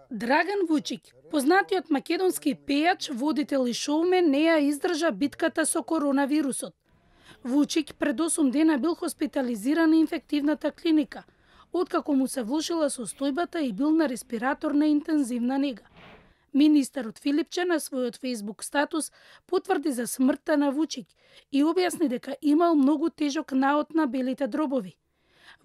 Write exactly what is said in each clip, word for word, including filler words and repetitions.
Драган Вучик, познатиот македонски пејач, водител и шоумен, не ја издржа битката со коронавирусот. Вучик пред осум дена бил хоспитализиран на инфективната клиника, откако му се влошила состојбата и бил на респиратор на интензивна нега. Министерот Филипче на својот фејсбук статус потврди за смртта на Вучик и објасни дека имал многу тежок наод на белите дробови.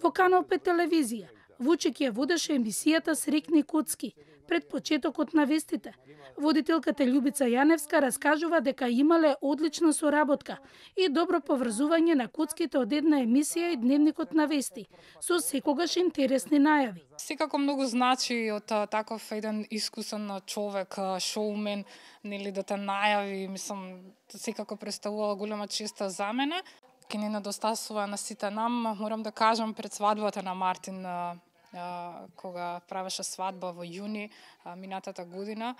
Во Канал пет телевизија, Вучик ја водеше емисијата Срекни коцки пред почетокот на вестите. Водителката Љубица Јаневска раскажува дека имале одлична соработка и добро поврзување на коцките од една емисија и Дневникот на вести, со секогаш интересни најави. Секако многу значи од таков еден искусен човек, шоумен, нели да те најави, мислам, секако представува голема честа за мене. Ке ни недостасува на сите нам, морам да кажам, пред свадбата на Мартин, кога правеше свадба во јуни минатата година,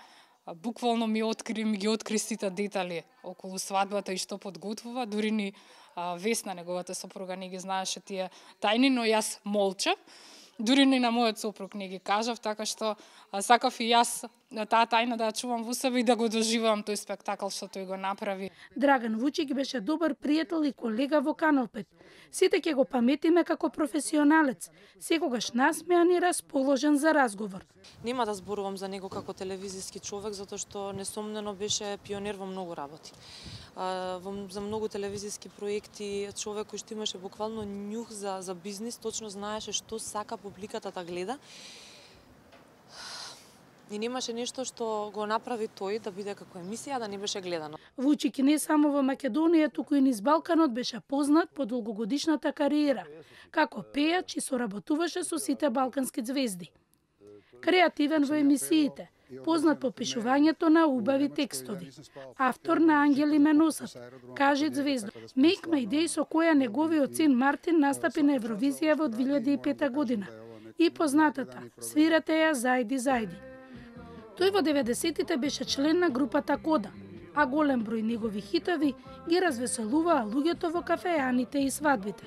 буквално ми откри, ми ги откри сите детали околу свадбата и што подготвува, дури ни Весна, неговата сопруга, не ги знаеше тие тајни, но јас молчав. Дури ни на мојот сопруг не ги кажав, така што сакав и јас таа тајна да ја чувам во себе и да го доживувам тој спектакл што тој го направи. Драган Вучик беше добар пријател и колега во Канал пет. Сите ќе го паметиме како професионалец, секогаш насмеан и расположен за разговор. Нема да зборувам за него како телевизиски човек, затоа што несомнено беше пионер во многу работи. За многу телевизиски проекти, човек кој што имаше буквално њух за, за бизнис, точно знаеше што сака публиката да гледа. И немаше нешто што го направи тој да биде како емисија, да не беше гледано. Вучик не само во Македонија, туку и низ Балканот беше познат по долгогодишната кариера, како пејач и соработуваше со сите балкански звезди. Креативен во емисиите, познат по пишувањето на убави текстови, автор на Ангели ме носат, Кажи звезда, Make My Day, со која неговиот син Мартин настапи на Евровизија во две илјади и пета година, и познатата Свирате ја зајди зајди. Тој во деветдесетите беше член на групата Кода, а голем број негови хитови ги развеселуваа луѓето во кафеаните и свадбите.